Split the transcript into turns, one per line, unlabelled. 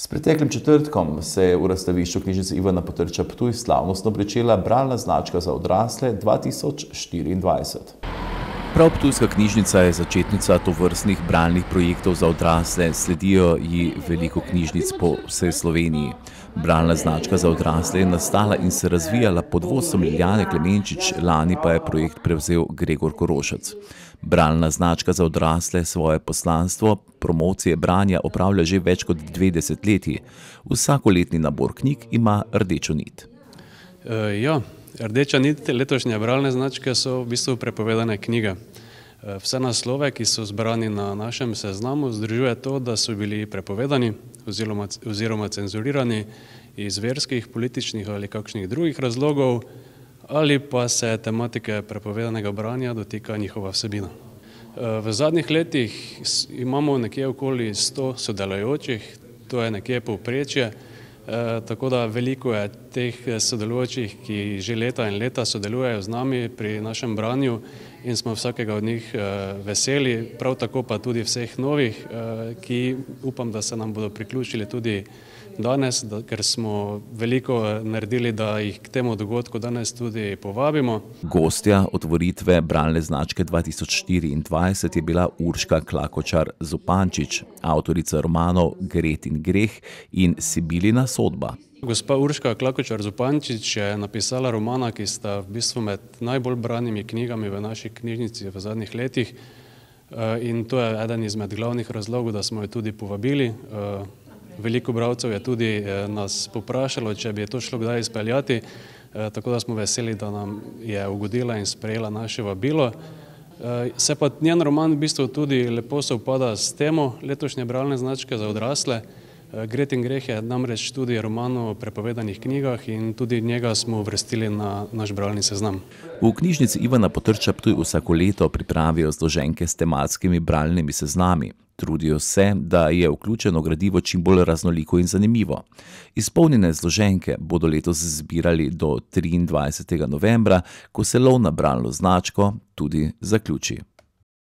S preteklim četrtkom se je v razstavišču knjižnice Ivana Potrča Ptuj slavnostno pričela bralna značka za odrasle 2024. Prav ptujska knjižnica je začetnica tovrstnih bralnih projektov za odrasle, sledijo ji veliko knjižnic po vsej Sloveniji. Bralna značka za odrasle je nastala in se razvijala pod vodstvom Liljane Klemenčič, lani pa je projekt prevzel Gregor Korošec. Bralna značka za odrasle svoje poslanstvo promocije branja opravlja že več kot 2 desetletji. Vsakoletni nabor knjig ima rdečo nit.
Rdeča nit letošnje bralne značke so v bistvu prepovedane knjige. Vse naslove, ki so zbrani na našem seznamu, združuje to, da so bili prepovedani oziroma cenzurirani iz verskih, političnih ali kakšnih drugih razlogov, ali pa se tematike prepovedanega branja dotika njihova vsebina. V zadnjih letih imamo nekje okoli 100 sodelujočih, to je nekje povprečje, tako da veliko je teh sodelujočih, ki že leta in leta sodelujejo z nami pri našem branju in smo vsakega od njih veseli, prav tako pa tudi vseh novih, ki upam, da se nam bodo priključili tudi danes, ker smo veliko naredili, da jih k temu dogodku danes tudi povabimo.
Gostja otvoritve bralne značke 2024 je bila Urška Klakočar Zupančič, avtorica romanov Gret in greh in Sibilina sodba.
Gospa Urška Klakočar Zupančič je napisala romana, ki sta v bistvu med najbolj branimi knjigami v naši knjižnici v zadnjih letih, in to je eden izmed glavnih razlogov, da smo jo tudi povabili. Veliko bralcev je tudi nas poprašalo, če bi to šlo kdaj izpeljati, tako da smo veseli, da nam je ugodila in sprejela naše vabilo. Se pa njen roman v bistvu tudi lepo sovpada s temo letošnje bralne značke za odrasle. Gret in greh je namreč tudi roman o prepovedanih knjigah in tudi njega smo uvrstili na naš bralni seznam.
V knjižnici Ivana Potrča Ptuj vsako leto pripravijo zloženke s tematskimi bralnimi seznami. Trudijo se, da je vključeno gradivo čim bolj raznoliko in zanimivo. Izpolnjene zloženke bodo letos zbirali do 23. novembra, ko se lov na bralno značko tudi zaključi.